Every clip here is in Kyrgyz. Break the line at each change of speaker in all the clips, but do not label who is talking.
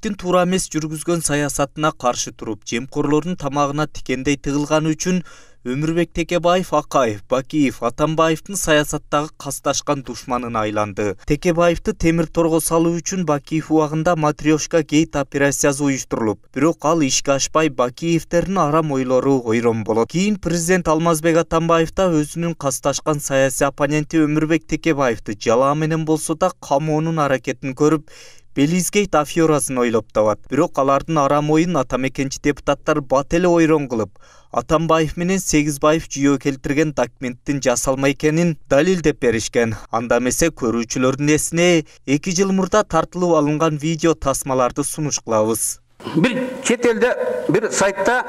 Атамбаевдин туура эмес жүргүзгөн саясатына каршы туруп, жемкорлордун тамагына тикендей тыгылганы үчүн Өмүрбек Текебаев Акаев, Бакиев Атамбаевдин саясаттагы касташкан душманына айланды. Текебаевди темир торго салуу үчүн Бакиев убагында Матрешка гейт операциясы уюштурулуп, бирок ал ишке ашпай Бакиевдердин арам ойлору ойрон болот. Кийин президент Алмазбек Атамбаев да өзүнүн касташкан саясий оппоненти Өмүрбек Текебаевди жалаа менен болсо да камоонун аракетин көрүп, Белизгейт аферасын ойлоп табат. Бирок алардын арам оюн атамекенчи депутаттар бат эле ойрон кылып, Атамбаев менен Сегизбаев жүйө келтирген документтин жасалма экенин далилдеп беришкен. Анда эмесе көрүүчүлөрдүн эсине 2 жыл мурда тартылып алынган видео тасмаларды сунуш кылабыз.
Бир чет элде бир сайтта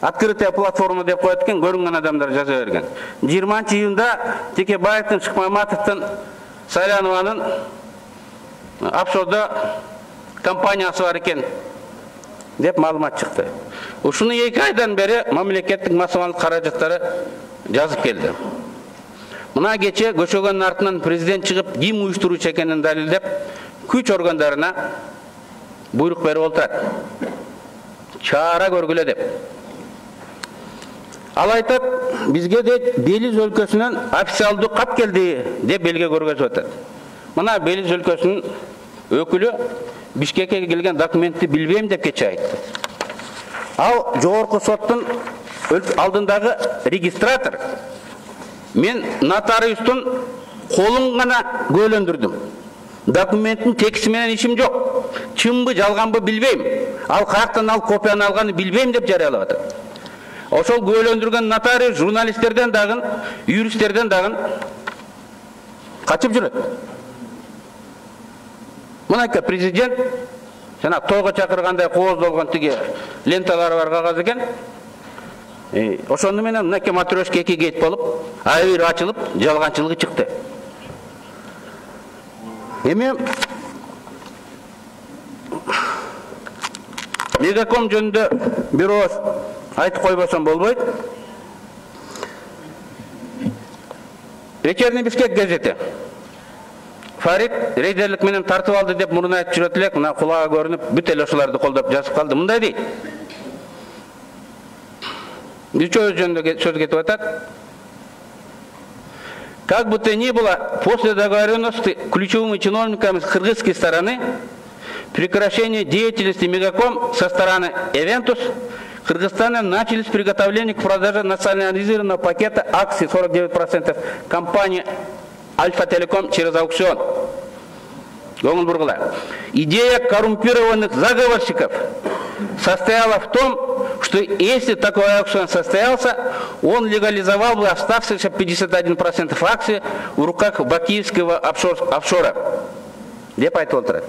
открытая платформа деп коет экен, көрүнгөн адамдар жаза берген. 20-июнда Текебаевдин, Шыкмаматовдун, Сайланованын офшорда компаниясы бар экен деп маалымат чыкты. Ушуну 2 айдан бери мамлекеттик массалык каражаттары жазып келди. Мына кече көчөгөнүн артынан президент чыгып, ким уюштуруучу экенин далилдеп, күч органдарына буйрук берип отурат. Чара көргүлө деп. Ал айтат, бизге де Белиз өлкөсүнөн официалдуу кат келди деп белге көргөзүп атат. Мына Белиз өлкөсүнүн өкүлү Бишкекке келген документти билбейм деп кече айтты. Ал жогорку соттун алдындагы регистратор. Мен нотариустун колун гана көөлөндүрдүм. Документтин текsti менен ишим жок. Чынбы, жалганбы билбейм. Ал каяктан ал копияны алганын билбейм деп жарыялап атат. Ошол көөлөндүргөн нотариус журналисттерден дагы, юристтерден дагы качып жүрөт. Мынакы президент жана тойго чакыргандай кооздолгон тиги ленталары бар кагаз экен. Ошону менен мынакы Матрешка 2 гейт болуп, айыр ачылып, жалганчылыгы чыкты. Эми Мегаком жөнүндө бир ооз айтып койбосом болбойт. Вечерний Бишкек газети Фарид рейдерлик менен тартып алды деп мурун айтып жүрөт элек, мына кулага көрүнүп, бүт эле ошолорду колдоп жазып калды. Мындай дейт. Үчөө жөнүндө сөз кетип атат. Как бы то ни было, после договоренности ключевыми чиновниками с кыргызской стороны прекращение деятельности Мегаком со стороны Эвентус, Кыргызстана начались приготовления к продаже национализированного пакета акций 49% компании Альфа-Телеком через аукцион. Идея коррумпированных заговорщиков состояла в том, что если такой аукцион состоялся, он легализовал бы оставшиеся 51% акций в руках бакиевского офшора. Деп айтып отурат.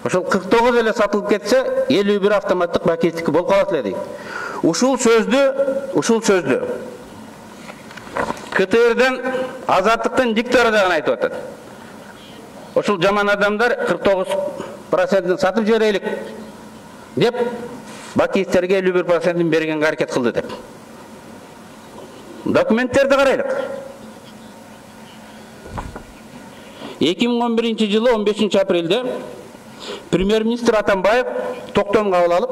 Ошол 49 эле сатылып кетсе, 51 автоматтык бакиевдики болуп калат эле дейт. Ушул сөздү КТРден Азаттыктын диктори дагы айтып атат. Ошол жаман адамдар 49%-ын сатып жиберелик деп бакиевтерге 51%-ын бергенге аракет кылды деп. Документтерди карайлык. 2011 жылы 15 апрелде премьер-министр Атамбаев токтом кабыл алып,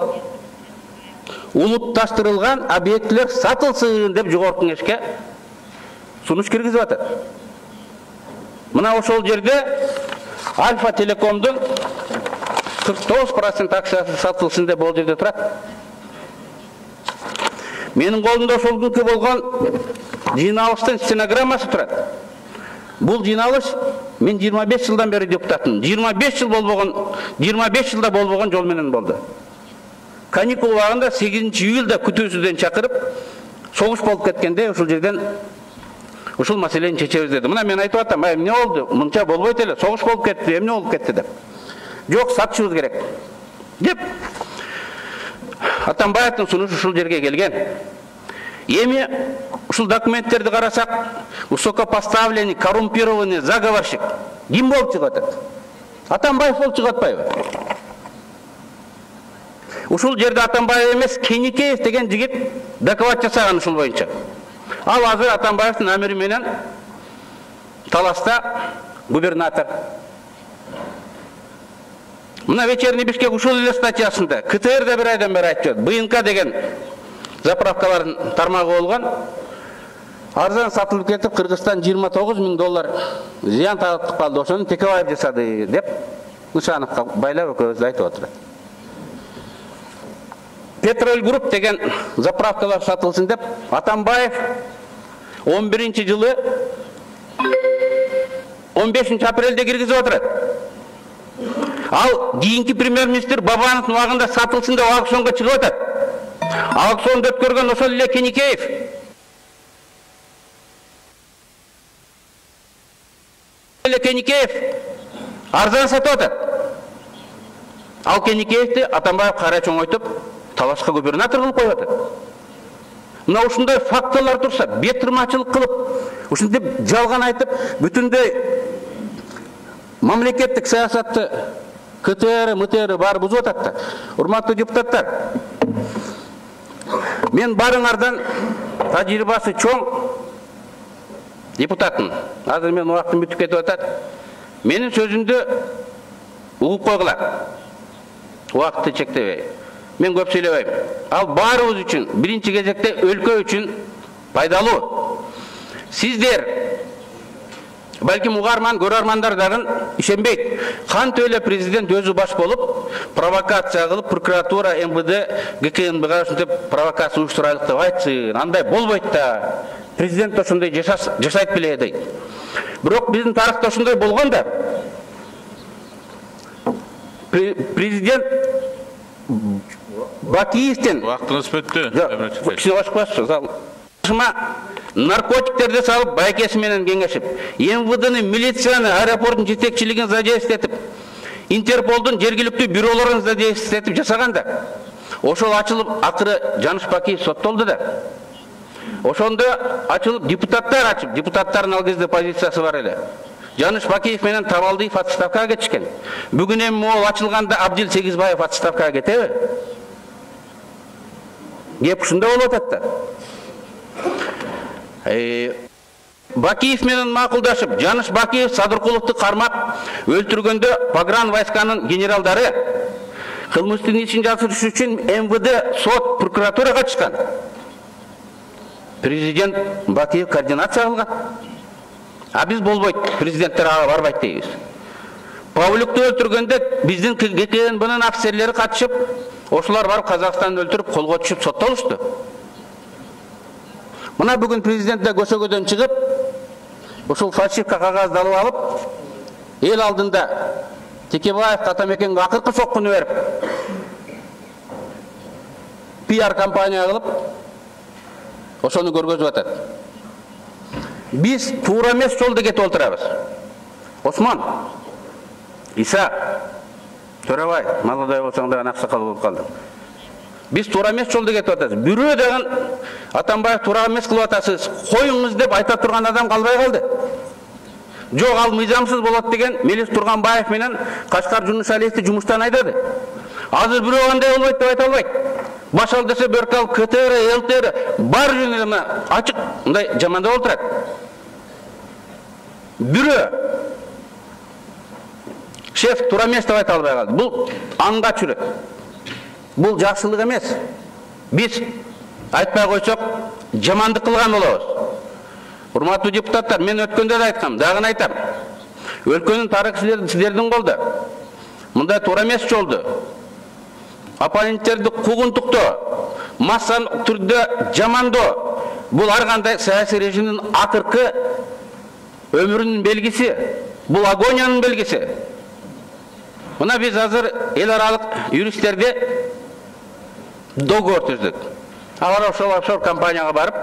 улутташтырылган объектилер сатылсын деп жогорку кеңешке сунуш киргизип атат. Мына ошол жерде Альфа-Телекомдун 49% акциясы сатылсын деп бул жерде турат. Менин колумда ошол күнкү болгон жыйналыштын стенограммасы турат. Бул жыйналыш мен 25 жылдан бери депутатмын. 25 жылда болбогон жол менен болду. Каникул убагында 8 июлда күтүүсүздөн чакырып, согуш болуп кеткенде ошол жерден ушул маселени чечебиз деди. Мына мен айтып атам, эмне болду? Мынча болбойт эле, согуш болуп кетти, эмне болуп кетти деп. Жок, сатышыбыз керек деп Атамбаевдин сунушу ушул жерге келген. Эми ушул документтерди карасак, высокопоставленный, коррумпированный заговорщик ким болуп чыгат? Атамбаев болуп чыгып атпайбы? Ушул жерде Атамбаев эмес, Кеникеев деген жигит доклад жасаган ушул боюнча. Ал азыр Атамбаевдин амири менен Таласта губернатор. Мына вечерний Бишкек ушул эле статьясында КТР да бир айдан бери айтып жатат. БНК деген заправкалардын тармагы болгон. Арзан сатылып кетип, Кыргызстан $29,000 зыян тартып калды. Ошону Текебаев жасады деп Нышановго байлап экөөбүз айтып отурат. Петроль Групп деген заправкалар сатылсын деп Атамбаев 11-жылы 15-апрелде киргизип отурат. Ал кийинки премьер-министр Бабановдун убагында сатылсын деп аукционго чыгып атат. Аукционду өткөргөн ошол эле Кеникеев. Кеникеев арзан сатып атат. Ал Кеникеевди Атамбаев кайра чоңойтуп, Талашка губернатор кылып коюп атат. Мына ушундай фактылар турса, бетырмачылык кылып, ушинтип жалган айтып, бүтүндөй мамлекеттик саясатты КТР, МТР баары бузуп атат да. Урматтуу депутаттар, мен барыңардан тажрыйбасы чоң депутаттын. Азыр мен убактым бүтүп кетип атат. Менин сөзүмдү угуп койгула. Убакытты чектебей. Мен көп сүйлөбөйм. Ал баарыбыз үчүн, биринчи кезекте өлкө үчүн пайдалуу. Сиздер, балким угарман, көрөрмандар дагы ишенбейт. Кантип эле президент өзү баш болуп, провокация кылып, прокуратура, МВД, ГКНБга ушинтип провокация уюштурайлык деп айтсын. Андай болбойт да. Президент ошондой жашайт беле дейт. Бирок биздин тарыхта ошондой болгон да. Президент Бакиевден
вактыңыз бүттү.
Кичине башкасы зал. Наркотиктерди салып, байкеси менен кеңешип, МВДны, милицияны, аэропорттун жетекчилигин задействовать этип, Интерполдун жергиликтүү бюролорун задействовать этип жасаганда, ошол ачылып, акыры Жаныш Бакиев соттолду да. Ошондо ачылып, депутаттар ачып, депутаттардын ал кезде позициясы бар эле. Жаныш Бакиев менен Табалдиев отставкага кетишкен. Бүгүн эми могул ачылганда Абдил Сегизбаев отставкага кетеби? Кеп ушундай болуп атат да. Бакиев менен макулдашып, Жаныш Бакиев Садыркуловду кармап өлтүргөндө погран войсканын генералдары кылмыштын ишин жазыш үчүн МВД, сот, прокуратура катышкан. Президент Бакиев координация кылган. А биз болбойт, президенттер ага барбайт дейбиз. Павлюкту өлтүргөндө биздин ГКНБнын офицерлери катышып, ошолар барып Казакстанды өлтүрүп, колго түшүп соттолушту. Мына бүгүн президент да көчөгөдөн чыгып, ошол фальшивка кагазды алып алып, эл алдында Текебаев Атамекенге акыркы соккуну берип, пиар компания кылып, ошону көргөзүп атат. Биз туура эмес жолдо кетип отурабыз. Осман, Иса, Төрөбай, молодой болсоң дагы аксакал болуп калдың. Биз туура эмес жолдо кетип атабыз. Бирөө дагы Атамбаев туура эмес кылып атасыз, коюңуз деп айта турган адам калбай калды. Жок, ал мыйзамсыз болот деген Мелис Турганбаев менен Кашкар Жунушалиевди жумуштан айдады. Азыр бирөө андай болбойт деп айта албайт. Баш ал десе бөркө алып КТР, ЛТР бар жөнү ачык мындай жамандап отурат. Бирөө шеф туура эмес деп айта албай калды. Бул аңга чүрөт. Бул жакшылык эмес. Биз айтпай койсок жамандык кылган болобуз. Урматтуу депутаттар, мен өткөндө да айткам, дагы айтам. Өлкөнүн тарыхы сиздердин колдо. Мындай туура эмес жолду оппоненттерди куугунтуктоо, массалык түрдө жамандоо, бул ар кандай саясий режимдин акыркы өмүрүнүн белгиси, бул агониянын белгиси. Мына биз азыр эл аралык юристтерди договор түздүк. Алар ошол офшор компанияга барып,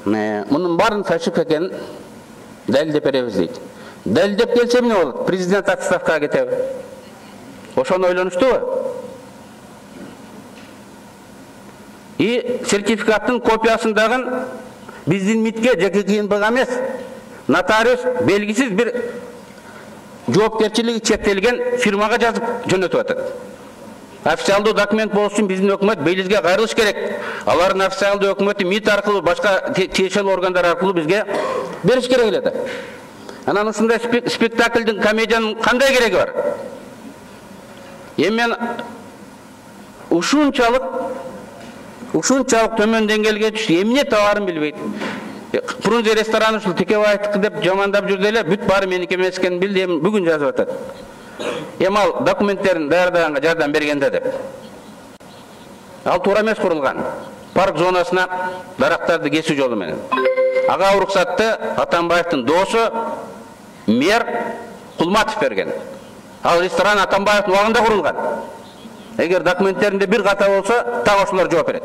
мунун баарын фальшивка экенин далилдеп беребиз дейт. Далилдеп келсе эмне болот? Президент отставкага кетеби? Ошону ойлонуштубу? И сертификаттын копиясындагы биздин МИДке жеке КНБга эмес, нотариус белгисиз бир жоопкерчилиги чектелген фирмага жазып жөнөтүп атат. Официалдуу документ болуш үчүн биздин өкмөт Белизге кайрылыш керек. Алардын официалдуу өкмөтү МИД аркылуу, башка тиешелүү органдар аркылуу бизге бериш керек эле да. Анан ушундай спектаклдин, комедиянын кандай кереги бар? Эми мен ушунчалык төмөн деңгээлге түштү. Эмне табарын билбейт. Фрунзе рестораны ушул Текебаевдики деп жамандап жүрдү эле, бүт баары меники эмес экенин билди, эми бүгүн жазып атат. Эми ал документтерин даярдаганга жардам бергенде деп. Ал туура эмес курулган. Парк зонасына дарактарды кесүү жолу менен. Ага уруксатты Атамбаевдин доосу мэр Кулматов берген. Ал ресторан Атамбаевдин убагында курулган. Эгер документтеринде бир ката болсо, так ошолор жооп берет.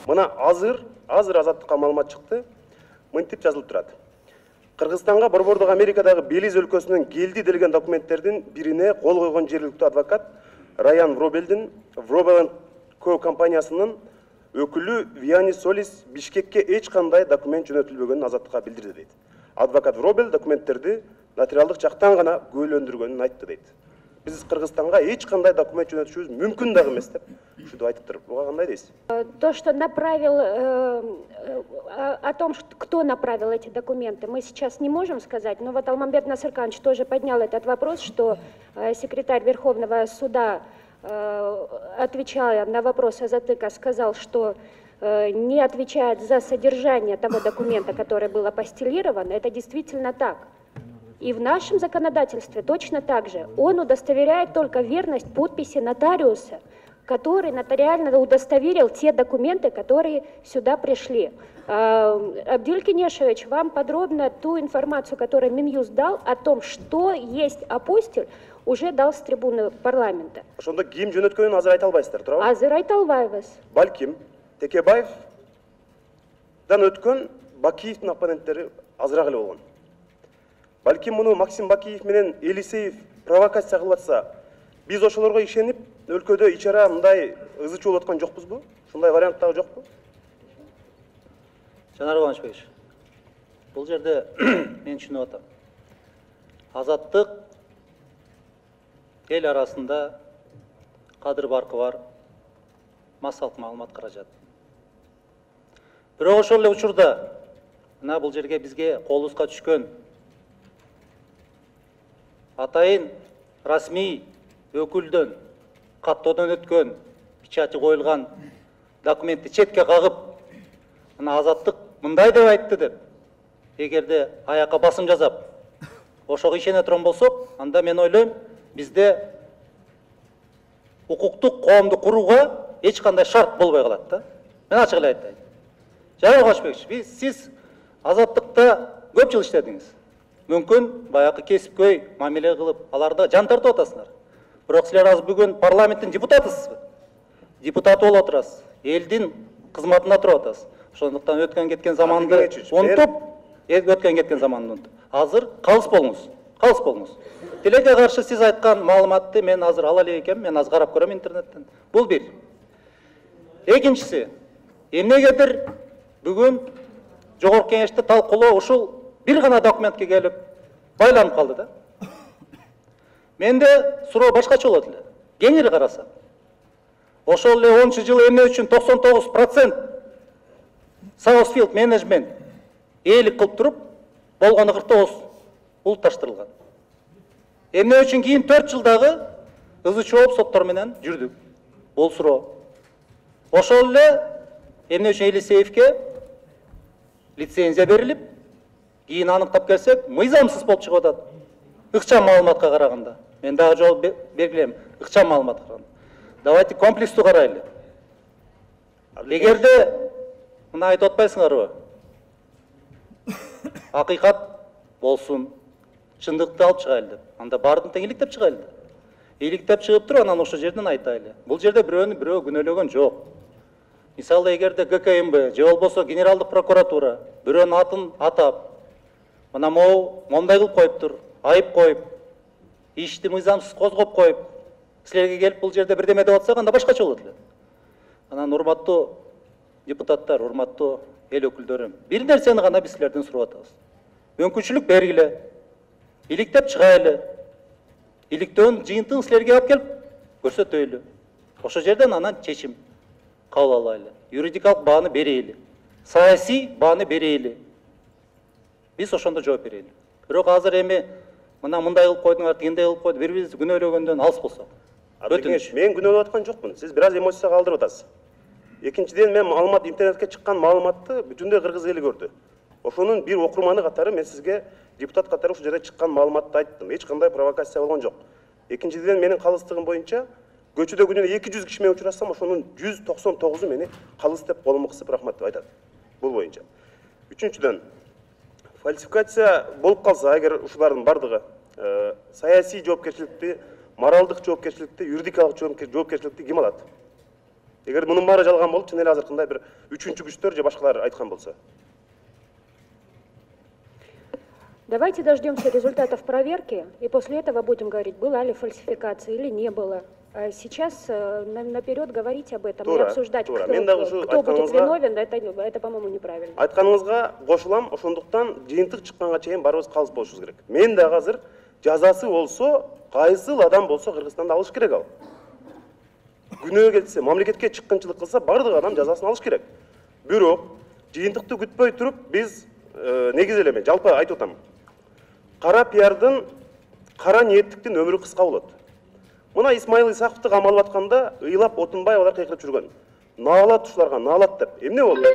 Мына азыр Азаттыкка маалымат чыкты. Мынтип жазылып турат. Кыргызстанга Борбордук Америкадагы Белиз өлкөсүнөн келди делген документтердин бирине кол койгон жергиликтүү адвокат Райан Вробелдин Вробел Co компаниясынын өкүлү Вианис Солис Бишкекке эч кандай документ жөнөтүлбөгөнүн Азаттыкка билдирди дейт. Адвокат Вробел документтерди нотариалдык жактан гана күбөлөндүргөнүн айтты дейт. Биз Кыргызстанга эч кандай документ жөнөтүшүбүз мүмкүн дагы эмес деп ушинтип айтыптыр. Буга кандай дейсиз?
То, что направил, о том, кто направил эти документы, мы сейчас не можем сказать, но вот Алмамбет Насырканович тоже поднял этот вопрос, что секретарь Верховного суда, отвечая на вопрос Азатыка, сказал, что не отвечает за содержание того документа, который был апостилирован. Это действительно так. И в нашем законодательстве точно так же. Он удостоверяет только верность подписи нотариуса, который нотариально удостоверил те документы, которые сюда пришли. Абдиль Кенешевич вам подробно ту информацию, которую Минюст дал о том, что есть апостиль, уже дал с трибуны парламента.
Ошондо ким жөнөткөнүн азыр айта албайсыздар, туурабы?
Азыр айта албайбыз.
Балким Текебаевдан өткөн Бакиевдин оппоненттери азыраак эле болгон. Балким муну Максим Бакиев менен Элисеев провокация кылып атса, биз ошолорго ишенип, өлкөдө ичара мындай ызы чуу болуп аткан жокпузбу? Ушундай вариант дагы жокпу?
Жанар Кубанычбекович, бул жерде мен түшүнүп атам. Азаттык эл арасында кадыр баркы бар массалык маалымат каражат. Бирок ошол эле учурда мына бул жерге бизге колубузга түшкөн атайын расмий өкүлдөн каттоодон өткөн печати коюлган документти четке кагып, мына Азаттык мындай деп айтты деп, эгерде аякка басым жасап, ошого ишене турган болсок, анда мен ойлойм, бизде укуктук коомду курууга эч кандай шарт болбой калат да. Мен ачык эле айтайын. Жанар Кубанычбекович, сиз Азаттыкта көп жыл иштедиңиз. Мүмкүн баягы кесипкөй мамиле кылып, аларда жан тартып атасыңар. Бирок силер азыр бүгүн парламенттин депутатысызбы? Депутат болуп отурасыз. Элдин кызматында туруп атасыз. Ошондуктан өткөн кеткен заманды унутуп, азыр калыс болуңуз. Тилекке каршы сиз айткан маалыматты мен азыр ала элек экенмин, мен азыр карап көрөм интернеттен. Бул бир. Экинчиси, эмнегедир бүгүн жогорку кеңеште талкуулоо ушул бир гана документке келип байланып калды да. Менде суроо башкача болот эле. Кеңири карасак, ошол эле 10 жыл эмне үчүн 99% Southfield менеджмент ээлик кылып туруп, болгону 49 улутташтырылган. Эмне үчүн кийин 4 жылдагы ызы чооп соттор менен жүрдүк. Бул суроо. Ошол эле эмне үчүн Элисеевке лицензия берилип, кийин аныктап келсек, мыйзамсыз болуп чыгып атат. Ыкчам маалыматка караганда. Мен дагы жол белгилейм. Ыкчам маалыматка караганда. Давайте комплекстүү карайлы. Эгерде мына айтып атпайсыңарбы? Акыйкат болсун, чындыкты алып чыгайлы деп. Анда баардын тең иликтеп чыгайлы. Иликтеп чыгып туруп, анан ошол жерден айтайлы. Бул жерде бирөө күнөөлөгөн жок. Мисалы, эгерде ГКМБ же болбосо Генералдык прокуратура бирөөнүн атын атап, мына момундай кылып коюптур, айып коюп, ишти мыйзамсыз козгоп коюп, силерге келип бул жерде бирдеме деп атсак, анда башкача болот эле. Анан урматтуу депутаттар, урматтуу эл өкүлдөрү, бир нерсени гана биз силерден сурап атабыз. Мүмкүнчүлүк бергиле, иликтеп чыгайлы, иликтөөнүн жыйынтыгын силерге алып келип көрсөтөйлү. Ошол жерден анан чечим кабыл алайлы. Юридикалык бааны берейли, саясий бааны берейли. Биз ошондо жооп берейли. Бирок азыр эми мына мындай кылып койдуңар, тигиндей кылып койду, бири-бирибизди күнөөлөгөндөн алыс болсок. Өтүнүч.
Мен күнөөлөп аткан жокмун. Сиз бир аз эмоцияга калтырып атасыз. Экинчиден, мен маалымат, интернетке чыккан маалыматты бүтүндөй кыргыз эли көрдү. Ошонун бир окурманы катары мен сизге депутат катары ушул жерде чыккан маалыматты айттым. Эч кандай провокация болгон жок. Экинчиден, менин калыстыгым боюнча көчөдө күнүнө 200 киши менен учурашсам, ошонун 199-у мени калыс деп колума кысып рахмат деп айтат. Бул боюнча. Үчүнчүдөн, фальсификация болуп калса, эгер ушулардын бардыгы саясий жоопкерчиликти, моралдык жоопкерчиликти, юридикалык жоопкерчиликти ким алат? Эгер мунун баары жалган болуп, чын эле азыркындай бир үчүнчү күчтөр же башкалар айткан болсо.
Давайте дождемся результатов проверки, и после этого будем говорить, была ли фальсификация или не было. А сейчас наперед говорить об этом и обсуждать, кто будет виновен, это, по-моему, неправильно.
Айтканыңызга кошулам, ошондуктан жыйынтык чыкканга чейин барыбыз калыс болушубуз керек. Мен дагы азыр жазасы болсо, кайсыл адам болсо Кыргызстанда алыш керек ал. Күнөө келсе, мамлекетке чыккынчылык кылса, бардык адам жазасын алыш керек. Бирок, жыйынтыкты күтпөй туруп, биз негизи эле мен жалпы айтып атам. Кара пиардын, кара ниеттиктин өмүрү кыска болот. Мына Исмаил Исаковду камалып атканда ыйлап Отунбаев алар кыйкырып жүргөн. Наалат ушуларга, наалат деп. Эмне болду?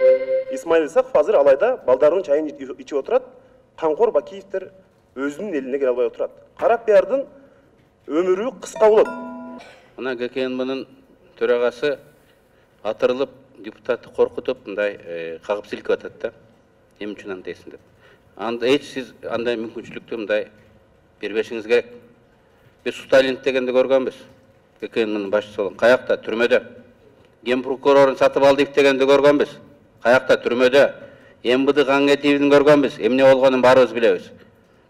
Исмаил Исаков азыр алайда балдарынын чайын ичип отурат, Камкор Бакиевдер өзүнүн элине келе албай отурат. Кара пиардын өмүрү кыска болот.
Мына ГКНБнын төрагасы атырылып, депутатты коркутуп, мындай кагып силкип атат да. Эмне үчүн андайсың деп. Анда эч сиз андай мүмкүнчүлүктү мындай бербешиңиз керек. Биз Сталин дегенди көргөнбүз. ГКНБнын башчысы болгон. Каякта? Түрмөдө. Ген прокурорун сатып алдык дегенди көргөнбүз. Каякта? Түрмөдө. МВД каңгетибин көргөнбүз. Эмне болгонун баарыбыз билебиз.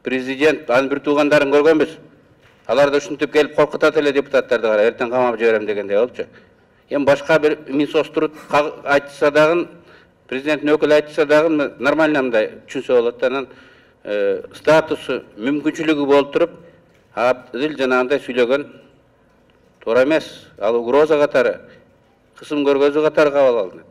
Президент анын бир туугандарын көргөнбүз. Алар да ушинтип келип коркутат эле депутаттарды, кара, эртең камап жиберем дегендей болчу. Эми башка бир Минсоструд айтса дагы, президенттин өкүлү айтса дагы нормально мындай түшүнсө болот. Анан статусу, мүмкүнчүлүгү болуп туруп, Абдил жанагындай сүйлөгөн туура эмес. Ал угроза катары, кысым көргөзүү катары кабыл алынат.